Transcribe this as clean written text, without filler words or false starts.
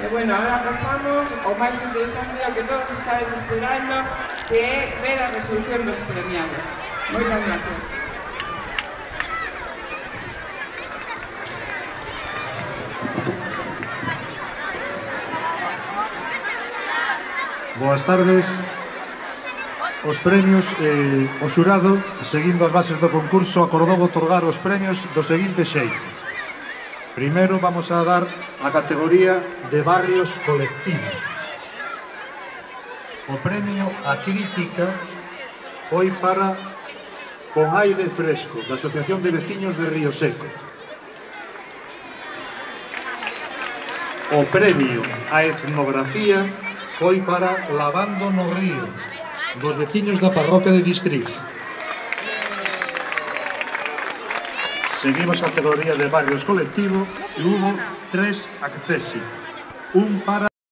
E, bueno, ahora pasamos ao máis interesante, ao que todos estáis esperando, que é ver a resolución dos premiados. Moitas gracias. Boas tardes. Os premios, o xurado, seguindo as bases do concurso, acordou outorgar os premios do seguinte xeito. Primeiro vamos a dar a categoría de barrios colectivos. O premio a crítica foi para Con Aire Fresco, da Asociación de Veciños de Río Seco. O premio a etnografía foi para Lavando no Río, dos veciños da parroquia de Distriz. Seguimos a categoría de barrios colectivo e hubo 3 accesi. Un para